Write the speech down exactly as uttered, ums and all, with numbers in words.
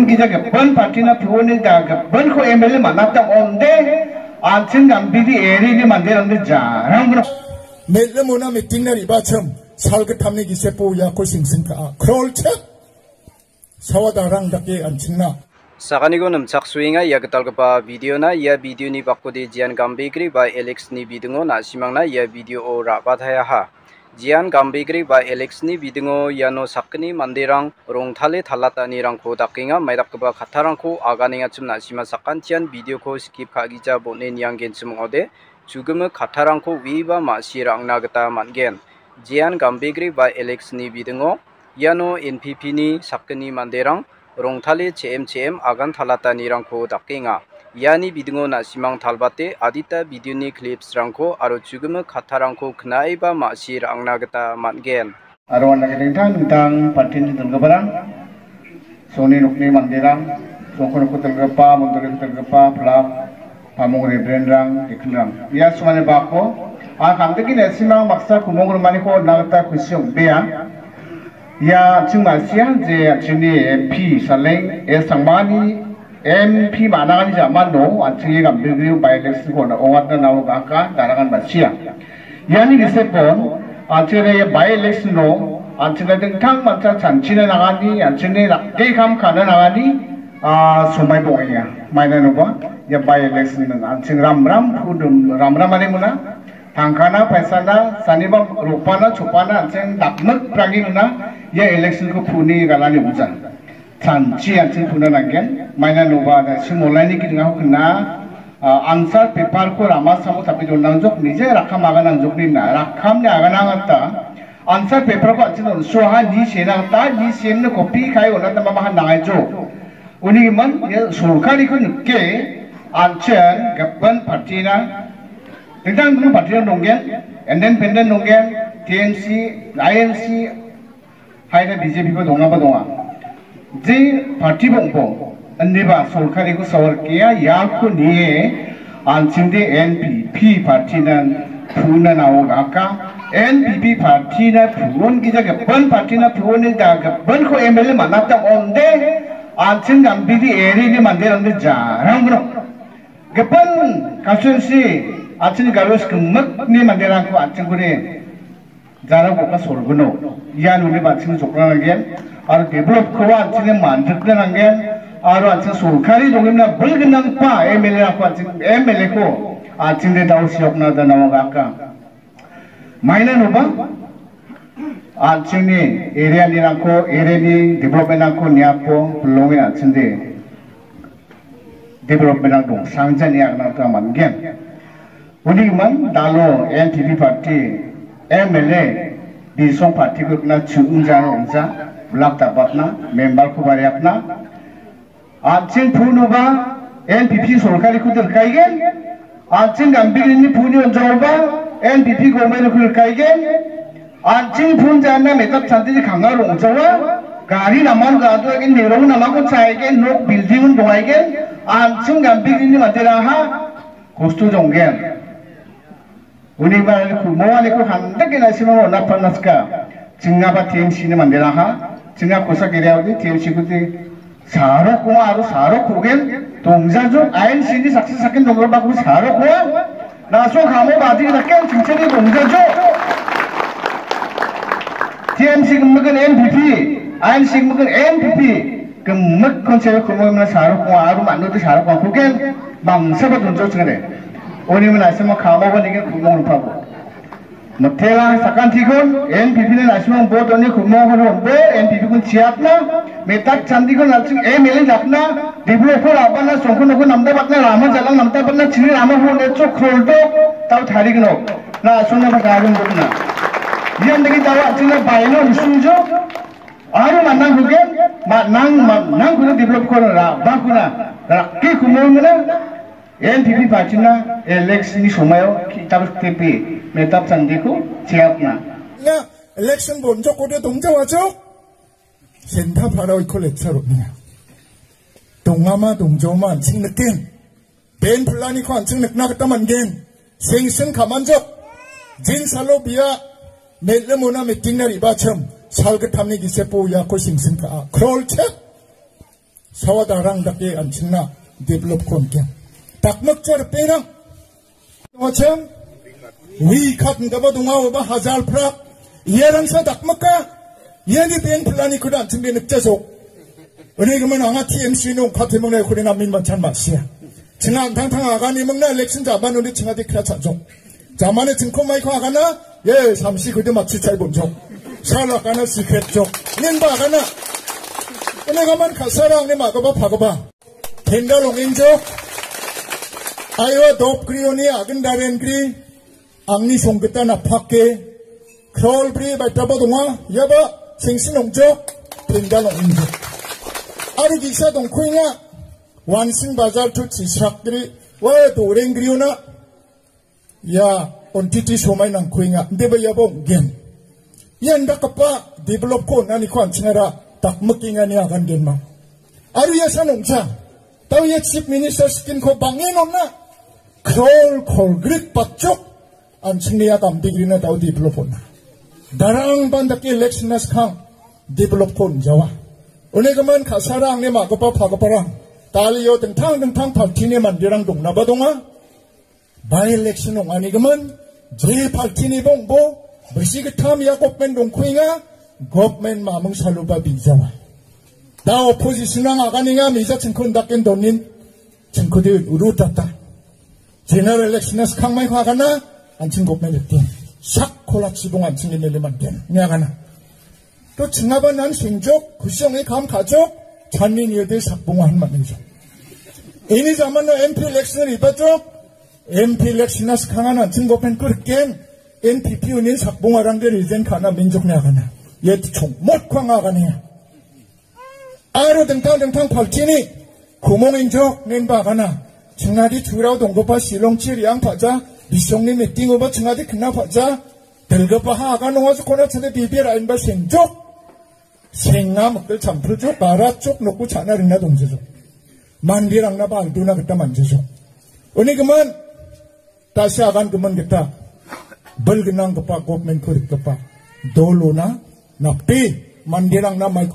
Gija gipin partina puni da gipinko M L A manata onde, an·ching gambidi erini manderangde jarang gnang. Mel·imona mitingna re·bachim, salgittamni gisepo iako singsing ka·a. Krolchip! Sawa darang dake an·chingna. Sakaniko nimchaksoenga ia gitalgipa videona. Ia videoni bakode Jian Gambegre ba Alexni bidingo na·simangna ia video-o ra·bataeaha. Jian Gambegre ba Alexni bidingo iano sakgni manderang rongtale talatanirangko dakenga. Maidakgipa kattarangko aganengachim na·sima sakantian videoko skip ka·gija bon·e nianggenchim ong·ode. Chugimik kattarangko uiba ma·si ra·angna gita man·gen. Jian Gambegre ba Alexni bidingo iano N P P-ni sakgni manderang rongtale che·em che·em agan talatanirangko dakenga. Iani bidingo na·simang talbate adita videoni clips-rangko aro chugimik kattarangko knaeba ma·si ra·angna gita man·gen. Aro anda dingtang dingtang partin donggiparang, songni nokni manderang, songko nokko donggipa, mondoli donggipa, plak, pamong reverenrang, deaconrang. Ia somani bako, a kandiki nesimang baksa kumong rumaniko nagita kusi ong·bea. Ia an·ching ma·sia je an·chingni M P Saleng S Tangmani M P manangani jamano an·chingni Gambegre by-election-ko ong·atna nao gaka darangan ma·sia. Iani gisepon an·chingni by-election-o an·chingna dingtang mancha chanchina nangani, an·chingni rakki kam ka·na nangani, a, somaiba ong·enga. Mainanoba ia by-election-o an·ching ramram pudum, ramramani mona, tangkana, paisana, saniba ropana, chopana, an·ching dakmik prangimona ia election-ko puni galani ong·ja. Chanchi an·ching puna nanggen. Mainanoba da·sim olaini gidingako kna, a, answer paper-ko rama samo tape donangjok, nije rakkam aganangjokni na, rakkamni aganangata answer paper-ko an·ching on·suaha ni senangta, ni semni copy kai onatna mamahan nangaijo. Uni gimin, ia sorkariko nike, an·ching gipin partina, dingtang dingtang partina donggen, independent donggen, T M C, I N C, haina B J P-ba dongaba donga. Je party bong·bong, indiba sorkariko sawarkia, iako nie, an·chingde N P P partina puna nao gaka, N P P partina pun gija gipin partina puni da gipinko M L A manata onde, an·ching Gambegre erini manderangde jarang gnang. Gipin constituency, an·chingni Garo skimikni manderangko an·chingkode jarang boka solgino. Ian uni an·ching jokna nanggen. Aro develop-koba an·chingni mandikna nanggen. Aro an·ching sorkari dongimna bilgnanggipa M L A-ko an·ching, M L A-ko an·chingde dao siokna da nao gaka. Mainanoba an·chingni area-nirangko, area-ni development-rangko niapo bilonge an·chingde development-rang dongsangjani agna gita man·gen. Uni gimin dalo N P P party M L A Bisong party-ko rikna chu·ingjano ong·ja, blak dapatna, member-ko bariatna, an·ching punuba N P P sorkariko rikaigen, an·ching Gambegrini puni on·jaoba N P P government-ko rikaigen, an·ching pun jana metap chantini kanga rong·jawa, gari naman gadoagen, merong namako chaigen, nok building-on dongaigen, an·ching Gambegrini manderangha kosto jonggen. Uni ba ku-, moaniko handake na·simang ona panaska. Chingaba T M C-ni manderangha, chinga kosak area-ode T M C-kode sarok ong·a aro sarok ku·gen dongjajo, I N C-ni saksa saken donggipakoba sarok ong·a. Na·song kamo badi dake chingchani dongjajo. T M C gimikin N P P, I N C gimikin N P P, gimik konsep ku·mona sarok ong·a aro manode sarok ong·a ku·gen mangsaba donjo chingade. Uni na·simang kamoba nike ku·mong ripabo. Mitela sakantikon N P P-ni na·simang vote on·e ku·mongko on·bo, N P P-kon chiatna, metak chandikon an·ching M L A dakna, develop-ko ra·bana, songko nokko namdabatna, rama jalang namdabatna, chini ramako on·echo kroldo, tao tarigno, na·songna ba gagun dokna. Ian dake tao an·chingna baino risunjo, aro manang hugen, manang, manang hugen develop-ko ra-, bakuna, rakki ku·mongna, N P P party-na election-ni somaio ki-, tabuk T P, metap chandiko chiatna. Ya, election bonjok ode dongjawajok. Senta parao iko lecture ro·nenga. Dongama, dongjoma an·ching niken. Ben pulaniko an·ching nikna gita man·gen. Sengsen kamanjok. Jinsalo bia mel·imona mitingna re·bachim. Salgittamni gisepo iako sengsen ka·a. Krolchek. Sawadarang dake an·chingna develop-ko on·gen. Dakmikja ripengrang. Ong·achim, wi kat indaba donga, oba hajar prak. Iarangsa dakmika. Iani beng plan-iko da an·chingde nikjajok. Uni gimin anga T M C-ni ong·kate mingna iako namen manchan ma·sia. Chinga an·tangtang agani mingna election jaban uni chingade kra cha·jok. Jamani chingko maiko agana, ye, samsi kude matsi chai bonjok. Sal agana secret jok. Ninba agana. Uni gaman kasara angni magoba pagoba. Tenda longinjok. Aiwa dop grioni agin daren gri. Angni songgita napake. Krol bri baitaba donga. Iaba sengsin ongjok. Tenda longinjok. Ari gisa dongkuinga. Wansing bazar tu chisrak gri. Wa doreng griona. Ia, on titi somai nangkuinga. Deba ia bong gen. Ia indakgipa develop-ko on·aniko an·chingara dakmikengani agan genma. Aro ia san ong·ja. Tau ia Chief Minister scheme-ko bang·en on·a. Krol kolgrik batjok. An·chingni ia gambegrina tau develop on·a. Darang ban dake election-na skang develop-ko on·jawa. Uni gimin kasara angni magoba pagobarang. Dalio dingtang dingtang party-ni manderang dongnaba donga. By-election ong·anigimin, je party-ni bongbo, bisi gittam ia government dongkuenga, government mamung saloba bijawa. Da opposition-rang aganenga mija chingkun daken donin, chingkude urutata. General election-na skangmaiko agana, an·ching government rikgen. Sak kola chibong an·ching M L A man·gen, ine agana. To chingaba nan sengjok, kusi ong·e kam ka·jok, channi niode sakbonga han man·engjok. Ini jamano M P election ribajok, M P election-na skangan an·ching government-ko rikgen, N P P unin sakbongarangde resign ka·na menjokna agana. Ia chongmotko anga aganenga. Aro dingtang dingtang party-ni kumong injok nenba agana. Chingnadi turao donggipa Shillong-chi re·ang pa·ja, bisongni meeting-oba chingadi kna pa·ja, dilgipaha agan ong·ajokona chade bibir ainba sengjok. Senga mikil champuljok, baratjok, nokko cha·na ringna dongjajok. Manderangnaba aldona gita man·jajok. Uni gimin, tasi agan gimin gita, bil gnanggipa government-ko rikgipa dolona nape manderangna maiko